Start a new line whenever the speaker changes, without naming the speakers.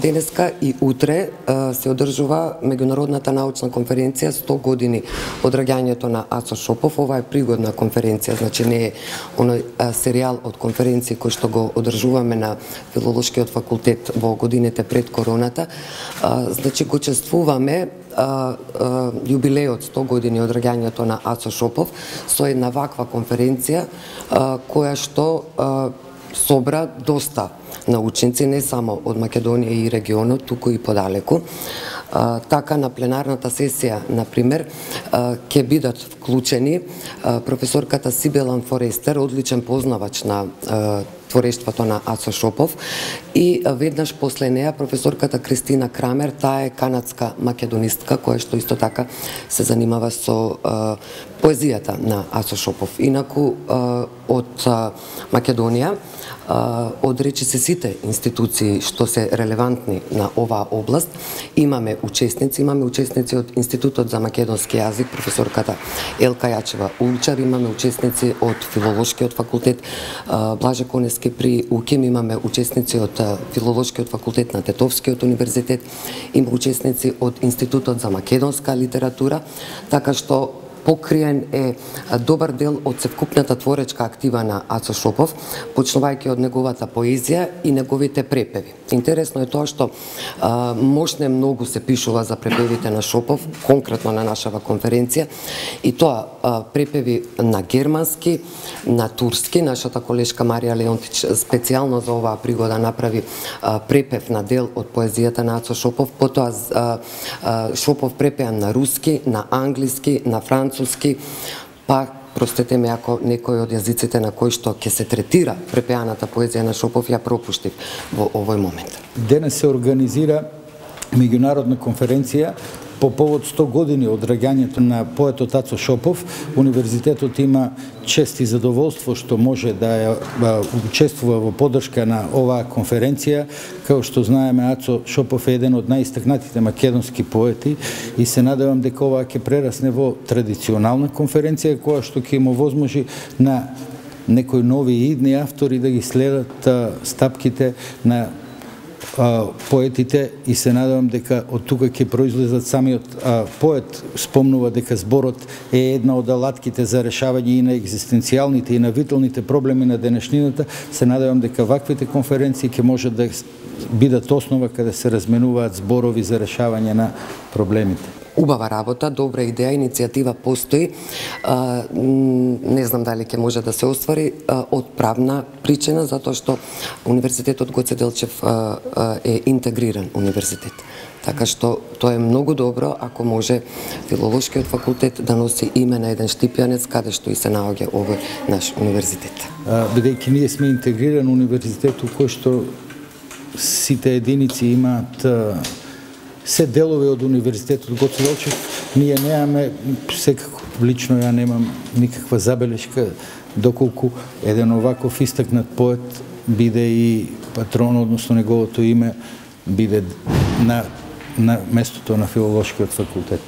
денеска и утре се одржува меѓународната научна конференција 100 години од раѓањето на Ацо Шопов. Ова е пригодна конференција, значи не е оној серијал од конференции кој што го одржуваме на Филолошкиот факултет во годините пред короната. Значи го чествуваме јубилеот 100 години од раѓањето на Ацо Шопов со една ваква конференција која што собра доста научници, не само од Македонија и регионот, туку и подалеку. Така на пленарната сесија, например, ќе бидат вклучени професорката Сибелан Форестер, одличен познавач на творештвото на Ацо Шопов, и веднаш после неа професорката Кристина Крамер, таа е канадска македонистка која што исто така се занимава со поезијата на Ацо Шопов. Инаку од Македонија, од речиси сите институции што се релевантни на оваа област, имаме учесници од Институтот за македонски јазик, професорката Елка Јачева Улчар, имаме учесници од Филолошкиот факултет Блаже Конески при УКИМ, имаме учесници од Филолошкиот факултет на Тетовскиот универзитет, има учесници од Институтот за македонска литература, така што покриен е добар дел од севкупната творечка актива на Ацо Шопов, почнувајќи од неговата поезија и неговите препеви. Интересно е тоа што мошне многу се пишува за препевите на Шопов, конкретно на нашава конференција, и тоа препеви на германски, на турски. Нашата колешка Марија Леонтич специјално за оваа пригода направи препев на дел од поезијата на Ацо Шопов, потоа Шопов препеан на руски, на англиски, на француски, па простете ме ако некој од јазиците на кој што ќе се третира препеаната поезија на Шопов ја пропуштив во овој момент.
Денес се организира меѓународна конференција по повод 100 години од раѓањето на поетот Ацо Шопов. Универзитетот има чест и задоволство што може да учествува во поддршка на оваа конференција. Као што знаеме, Ацо Шопов е еден од најистакнатите македонски поети и се надевам дека ова ќе прерасне во традиционална конференција која што ќе им овозможи на некои нови и идни автори да ги следат стапките на поетите, и се надевам дека од тука ќе произлезат. Самиот поет спомнува дека зборот е една од алатките за решавање и на екзистенцијалните и на виталните проблеми на денешнината. Се надевам дека ваквите конференции ќе може да бидат основа каде се разменуваат зборови за решавање на проблемите.
Убава работа, добра идеја, иницијатива постои. Не знам дали ќе може да се оствари од правна причина, затоа што Универзитетот Гоце Делчев е интегриран универзитет. Така што тоа е многу добро ако може Филолошкиот факултет да носи име на еден штипјанец каде што и се наоѓа овој наш универзитет.
Бидејќи ние сме интегриран универзитет у кој што сите единици имаат се делови од Универзитетот Гоце Делчев, ние немаме, секако лично ја немам никаква забелешка доколку еден оваков истакнат поет биде и патрон, односно неговото име биде на местото на Филолошкиот факултет.